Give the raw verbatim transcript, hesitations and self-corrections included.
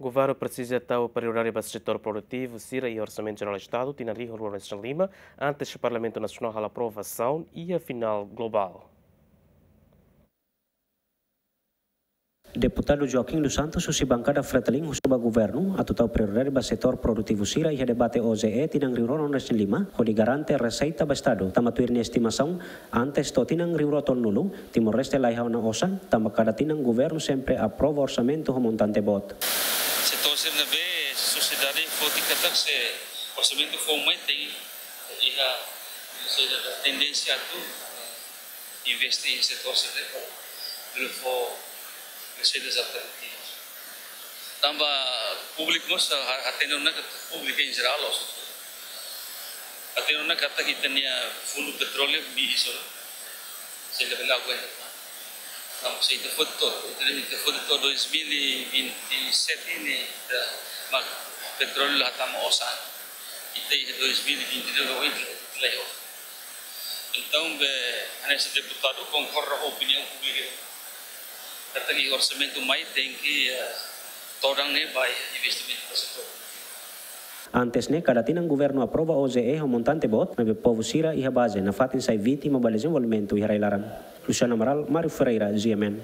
Governu presiza tau prioridade ba setór produtivu sira iha Orsamentu Jerál Estadu tinan rihun rua ruanulu-resin-lima, antes Parlamentu Nasionál halo aprovasaun iha final globál. Deputadu Joaquim dos Santos husi bankada Fretilin husu ba governu atu tau prioridade ba setór produtivu sira iha debate O J E tinan rihun rua ruanulu-resin-lima, hodi garante reseita ba Estadu, tanba tuir nia estimasaun, antes to'o tinan rihun rua tolunulu, Timor-Leste laiha ona osan, tanba kada tinan governu sempre aprova orsamentu ho montante boot. Setór sira ne'ebé sosiedade foti katak se orsamentu foun mai tenke iha, sei iha tendénsia atu investe iha setór sira ne'e para bele fó reseitas alternativas. Tanba públiku mós ha-, hatene ona katak públiku em geral, ou seja, hatene ona katak ita-nia fundu petróleu miris ona. Sei labele aguenta. Tanba se ita foti to'o, ita, ita foti to'o dois mil e vinte e sete ne'e, ita mak petróleu la hatama osan. Ita iha dois mil e vinte e dois, ita la iha. Entaun, be, hanesan deputadu konkorda ho opiniaun públika katak orsamentu mai tenke, eh, todan ne'e ba investimentu ba setór. Antes ne'e, kada tinan governu aprova O J E ho montante boot, maibé povu sira iha baze nafatin sai vítima ba dezenvolvimentu iha rai-laran. Luciano Amaral, Mário Ferreira, G M N.